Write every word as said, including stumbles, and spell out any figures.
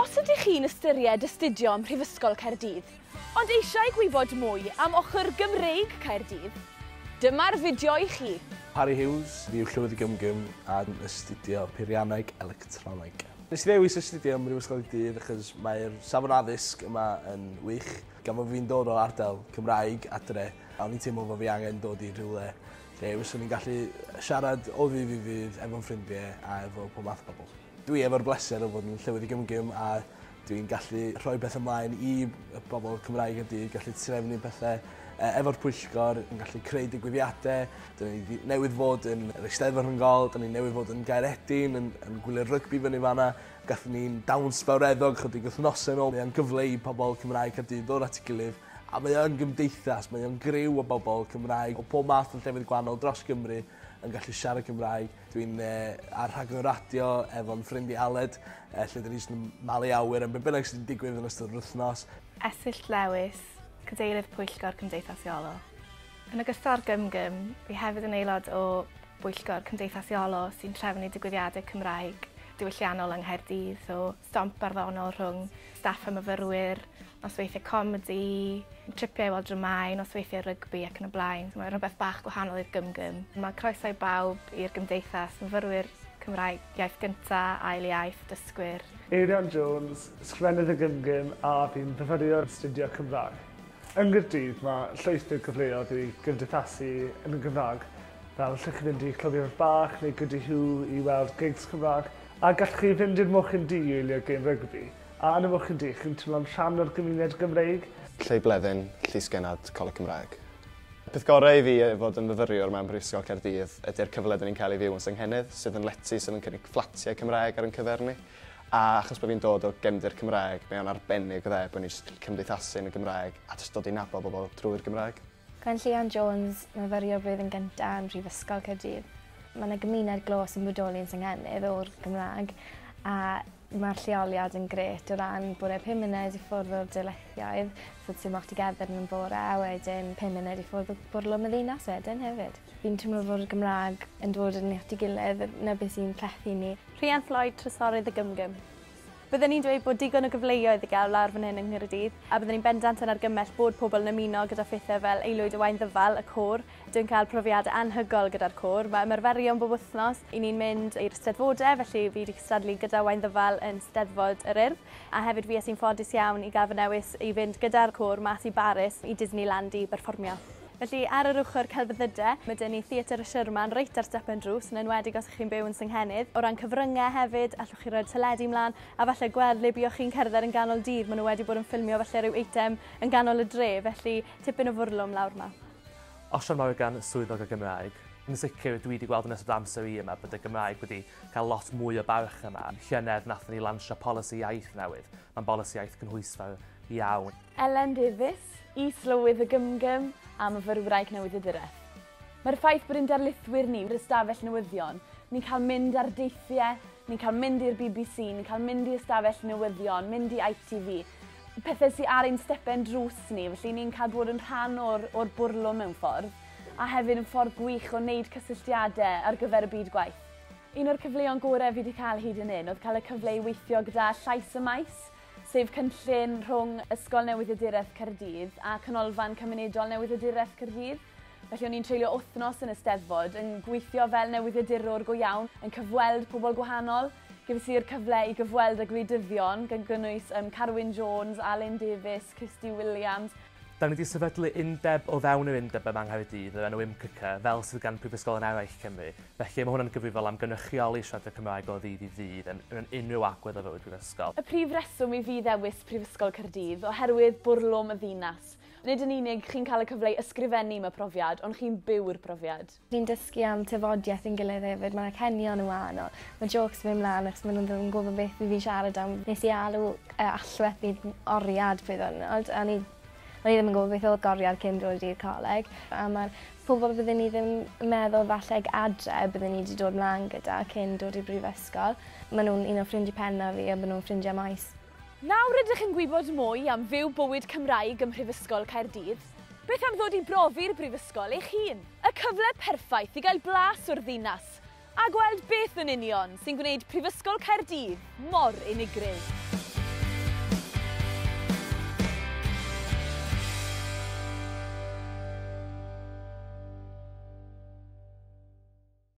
Os ydych chi'n ystyried astudio ym Mhrifysgol Caerdydd, ond eisiau gwybod mwy am ochr Gymreig Caerdydd, dyma'r fideo i chi. Harry Hughes, fi yw Llywydd y GymGym a'n astudio peirianneg electroneg. Nes i ddewis astudio ym Mhrifysgol Caerdydd achos mae'r safon addysg yma yn wych. Gan fod fi'n dod o ardal Cymraeg adre, a o'n i'n teimlo fod fi angen dod i rhywle lle fyswn i'n gallu siarad o ddydd i ddydd efo'n ffrindiau a efo pob math o bobl. Dwi efo'r bleser o fod yn Llywydd y GymGym a dwi'n gallu rhoi beth ymlaen i bobl Cymraeg y dydd, gallu trefnu pethau efo'r pwyllgor, yn gallu creu digwyddiadau. Dyn ni newydd fod yn yr Eisteddfod Rhyngol, dyn ni newydd fod yn Gaeredin, yn, yn gwylio'r rygbi fyny fanna. Gathon ni'n dawns fawreddog chydig wythnosau nôl. Mae'n gyfle i pobl Cymraeg Caerdydd ddod at ei gilydd, a mae o'n gymdeithas, mae o'n griw o bobl Cymraeg o pob math o llefydd gwahanol dros Gymru yn gallu siarad Cymraeg. Dwi'n eh, ar rhaglen radio efo'n ffrind i Aled, eh, lle dyn ni jyst yn malu awyr am be bynnag sy'n digwydd yn ystod yr wythnos. Esyllt Lewis, Cadeirydd Pwyllgor Cymdeithas Iolo. Yn ogystal â'r GymGym, fi hefyd yn aelod o Bwyllgor Cymdeithas Iolo sy'n trefnu digwyddiadau Cymraeg diwylliannol yng Nghaerdydd, so stomp barddonol rhwng staff a myfyrwyr, nosweithiau comedi, tripiau i weld dramâu, nosweithiau rygbi ac yn y blaen. So mae rhywbeth bach gwahanol i'r GymGym. Mae croeso i bawb i'r gymdeithas, myfyrwyr Cymraeg iaith gynta, ail iaith, dysgwyr. Eirian Jones, ysgrifennydd y GymGym a fi'n fyfyriwr astudio Cymraeg. Yng Nghaerdydd mae llwyth o gyfleoedd i gymdeithasu yn y Gymraeg, fel allwch chi fynd i Clwb Bach neu Gwdihŵ i weld gigs Cymraeg, a gallwch chi fynd i'r Mochyn Du i wylio gêm rygbi. A yn y Mochyn Du, chi'n teimlo'n rhan o'r gymuned Gymreig. Lleu Bleddyn, Llysgennad, Coleg Cymraeg. Y peth gorau i fi fod yn fyfyriwr mewn Prifysgol Caerdydd ydy'r cyfle dyn ni'n cael ei fyw yn Senghennydd, sydd yn lety sydd yn cynnig fflatiau Cymraeg ar ein cyfer ni. A achos bod fi'n dod o gefndir Cymraeg, mae o'n arbennig o dde bod ni'n jyst cymdeithasu yn y Gymraeg a jyst dod i nabod bobl drwy'r Gymraeg. Gwenllian Jones, myfyriwr blwyddyn gyntaf ym Mhrifysgol Caerdydd. Mae yna gymuned glos yn bodoli yn Senghennydd o'r Gymraeg, a mae'r lleoliad yn grêt o ran bod e pum munud i ffwrdd o'r darlithioedd, so ti'n moch ti gerdded yn y bore, a wedyn pum munud i ffwrdd o bwrlwm y ddinas wedyn hefyd. Fi'n teimlo fod y Gymraeg yn dod yn at ei gilydd, na beth sy'n plethu ni. Rhian Floyd, Trysorydd y GymGym. Byddwn ni'n dweud bod digon o gyfleoedd i gael lawr fan hyn yng Nghaerdydd, a byddwn ni'n bendant yn argymell bod pobl yn ymuno gyda phethau fel Aelwyd y Waun Ddyfal, y côr. Dwi'n cael profiadau anhygoel gyda'r côr. Mae ymarferion bob wythnos. I ni'n mynd i'r Steddfodau, felly fi wedi cystadlu gyda Waun Ddyfal yn Steddfod yr Urdd. A hefyd fi es i'n ffodus iawn i gael fy newis i fynd gyda'r côr mas i Baris i Disneyland i berfformio. Felly ar yr ochr celfyddydau, mae dyn ni Theatr y Sherman reit ar stepen drws, yn enwedig os ych chi'n byw yn Senghennydd. O ran cyfryngau hefyd, allwch chi roi'r teledu mlaen, a falle gweld le buoch chi'n cerdded yn ganol dydd. Maen nhw wedi bod yn ffilmio falle rhyw eitem yn ganol y dre, felly tipyn o fwrlwm lawr yma. Osian Morgan, Swyddog y Gymraeg. Yn sicr, dwi wedi gweld yn ystod amser i yma bod y Gymraeg wedi cael lot mwy o barch yma. Llynedd nathon ni lansio polisi iaith newydd. Mae'n bolisi iaith cynhwysfawr iawn. Elen Davies, is-lywydd y GymGym a myfyrwraig newyddiaduraeth. Mae'r ffaith bod ein darlithwyr ni i'r ystafell newyddion, ni'n cael mynd ar deithiau, ni'n cael mynd i'r B B C, ni'n cael mynd i ystafell newyddion, mynd i I T V, pethau sydd ar ein stepen drws ni, felly ni'n cael bod yn rhan o'r, o'r bwrlwm mewn ffordd, a hefyd yn ffordd gwych o wneud cysylltiadau ar gyfer y byd gwaith. Un o'r cyfleon gorau fi wedi cael hyd yn hyn oedd cael y cyfle i weithio gyda Llais y Maes, sef cynllun rhwng Ysgol Newyddiaduraeth Caerdydd a Canolfan Cymunedol Newyddiaduraeth Caerdydd. Felly o'n i'n treulio wythnos yn y Steddfod yn gweithio fel newyddiadurwr go iawn, yn cyfweld pobl gwahanol. Gefes i'r cyfle i gyfweld â gwleidyddion, gan gynnwys um, Carwyn Jones, Alun Davies, Kirsty Williams. Da ni wedi sefydlu undeb o fewn yr undeb yma yng Nghaerdydd, yr enw I M C C, fel sydd gan Prifysgolion eraill Cymru. Felly mae hwn yn gyfrifol am gynrychioli siaradwyr Cymraeg o ddydd i ddydd yn, yn unrhyw agwedd o fywyd prifysgol. Y prif reswm i fi ddewis Prifysgol Caerdydd oherwydd bwrlwm y ddinas. Nid yn unig chi'n cael y cyfle i ysgrifennu am y profiad, ond chi'n byw'r profiad. Ni'n dysgu am tafodiaeth yn gilydd hefyd, mae'r acenion yn wahanol. Mae jokes yn mynd mlaen achos maen nhw ddim yn gwybod beth fi fi'n siarad am. Nes i alw uh, allwedd i oriad pryd o'n, a ni O'n i ddim yn gwybod beth oedd goriad cyn dod i'r coleg. A mae'r pobl byddwn ni ddim yn meddwl falle adre byddwn ni wedi dod mlaen gyda cyn dod i'r brifysgol. Maen nhw'n un o ffrindiau pennaf fi a maen nhw'n ffrindiau maes. Nawr ydych yn gwybod mwy am fyw bywyd Cymraeg ym Mhrifysgol Caerdydd, beth am ddod i brofi'r brifysgol eich hun? Y cyfle perffaith i gael blas o'r ddinas a gweld beth yn union sy'n gwneud Prifysgol Caerdydd mor unigryw.